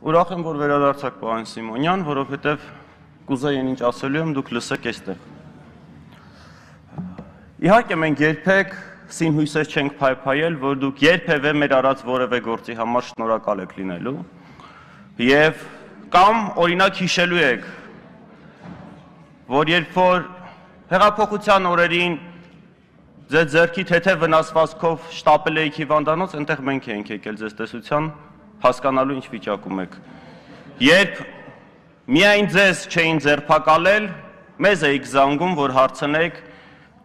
Ուրախ եմ, որ վերադարձաք պարոն Սիմոնյան, որովհետև կուզեի ինչ ասելու եմ, դուք լսեք այստեղ։ Իհարկե մենք երբեք սինհույսեր չենք փայփայել, որ դուք երբևէ մեր արած որևէ գործի համար շնորհակալ եք լինելու եւ կամ օրինակ հիշելու եք, որ երբ որ հեղափոխության օրերին ձեր ձեռքի թեթև վնասվածքով շտապել էիք հիվանդանոց, այնտեղ մենք էինք եկել ձեզ տեսության, հասկանալու ինչ վիճակում եք։ Երբ միայն ձեզ չէին ձերբակալել, մեզ էիք զանգում, որ հարցնեք,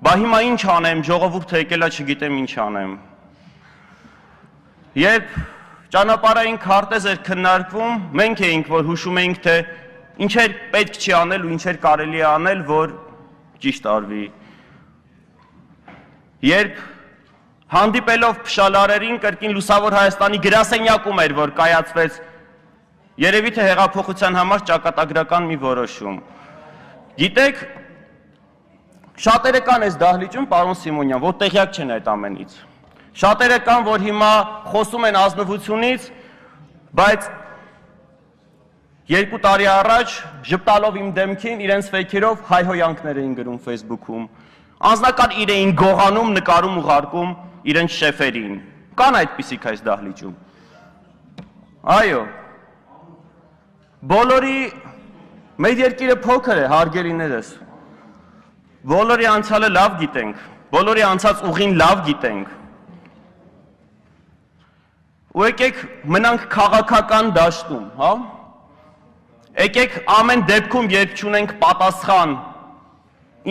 բա հիմա ինչ անեմ, ժողովուրդը եկել է, չգիտեմ ինչ անեմ։ Երբ ճանապարհային քարտեզ էր քննարկվում, մենք էինք, որ հուշում էինք, թե ինչեր պետք չի անել ու ինչեր կարելի է անել, որ ճիշտ արվի։ Երբ հանդիպելով փշալարերին կրկին Լուսավոր Հայաստանի գրասենյակում էր, որ կայացվեց երևի թե հեղափոխության համար ճակատագրական մի որոշում։ Գիտեք, շատերը կան այս դահլիճում, պարոն Սիմոնյան, որ տեղյակ չեն այդ ամենից։ Շատերը կան, որ հիմա խոսում են ազնվությունից, բայց 2 տարի առաջ ժպտալով իմ դեմքին իրենց ֆեյքերով հայհոյանքներ էին գրում Facebook-ում։ Անձնական իր էին գողանում, նկարում ուղարկում իրենց շեֆերին։ Կան այդպիսիք այս դահլիճում։ Այո։ Բոլորի մեր երկիրը փոքր է, հարգելիներս։ Բոլորի անցյալը լավ գիտենք, բոլորի անցած ուղին լավ գիտենք։ Ու եկեք մնանք քաղաքական դաշտում, հա։ Եկեք ամեն դեպքում, երբ չունենք պատասխան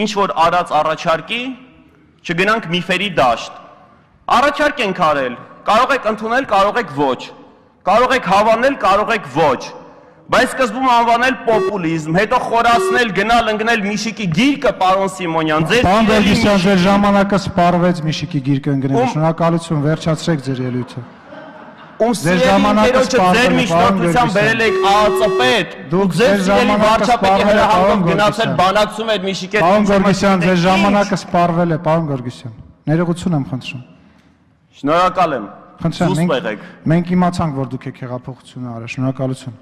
ինչ որ արած առաջարկի, չգնանք միֆերի դաշտ։ Առաջարկ ենք արել, կարող եք ընդունել, կարող եք ոչ, կարող եք հավանել, կարող եք ոչ, բայց սկզբում անվանել պոպուլիզմ, հետո խորացնել, գնալ ընկնել Միշիկի գիրկը, պարոն Սիմոնյան, ձեր Պարոն Վերգիսյան, ձեր ժամանակը սպառվեց Միշիկի գիրկը ընկնելու, շնորհակալություն, վերջացրեք ձեր ելույթը։ Ում սիրելի ձեր միջնորդությամբ բերել եք ԱԱԾ-պետ, դուք ձեր սիրելի վարչապետի հրահանգով գնացել բանակցում եք Միշիկի հետ։ Պարոն Գորգիսյան, ձեր ժամանակը սպառվել է, պարոն Գորգիսյան։ Ներողություն եմ խնդրում։ Շնորհակալ եմ։ Խնդրեմ, մենք իմացանք, որ դուք եք հեղափոխությունը արել, շնորհակալություն։